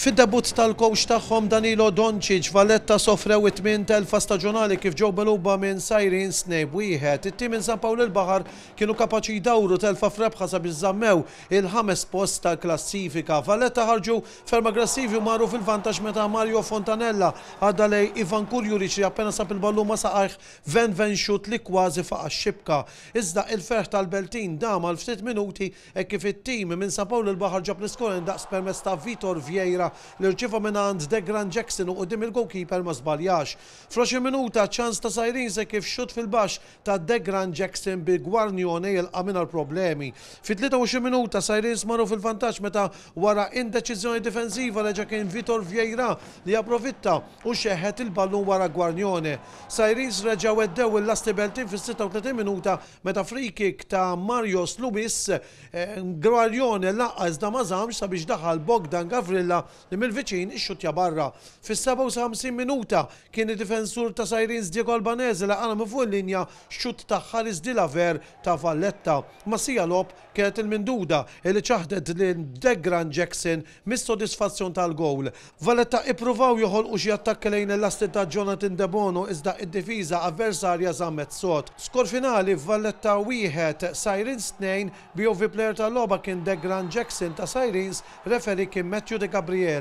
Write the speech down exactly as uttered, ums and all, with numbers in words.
Fid-debutt tal-coach tagħhom Danilo Doncic, Valletta sofrew it-tmien telfa staġjonali kif ġew megħluba minn Sirens tnejn b'wieħed. It-tim minn San Pawl il-Baħar kienu kapaċi jdawru telfa f'rebħa sabiex żammew il-ħames post tal-klassifika. Valletta ħarġu ferm aggressivi u marru fil-vantaġġ meta Mario Fontanella għadda lejn Ivan Kurjuric li appena sab il-ballun ma' saqajh ven ven xut li kważi faqa' x-xibka. Iżda il-ferħ tal-Beltin dam għal ftit minuti e kif it-tim minn San Pawl il-Baħar ġab l-iskor indaqs permezz ta' Vitor Vieira li rċieva minn għand Degran Jackson u quddiem il-goalkeeper ma żbaljax. Fl-għoxrin minuta, ċans ta' Sirens kif xut fil-baxx ta' Degran Jackson bi Guarnione jilqa' mingħajr problemi. Fit-tlieta u għoxrin minuta Sirens marru fil-vantaġġ meta wara indeċiżjoni difensiva reġa' kien Vitor Vieira li approfitta u xeħet il-ballun wara Guarnione. Sirens reġgħu heddew il-lasti Beltin fis-sitta u tletin minuta meta free kick ta' Mario Luis, eh, Guarnione laqa' iżda ma żammx sabiex daħal Bogdan Gavrilla li mill-viċin ixxutja barra. Fis-sebgħa u ħamsin minuta kien id-difensur ta' Sirens Diego Albanese li qala' minn fuq il-linja xutt ta' Haris Dilaver ta' Valletta. Mas-siegħa logħob kienet il-minduda li ċaħdet lil Degran Jackson mis-sodisfazzjon tal-gowl. Valletta ippruvaw joħolqu xi attakki lejn il-lasti ta' Jonathan Debono, iżda id-difiża avversarja żammet sod. Skor finali Valletta wieħed, Sirens tnejn. B O V player tal-logħba kien Degran Jackson ta' Sirens, referee kien Matthew De Gabriele.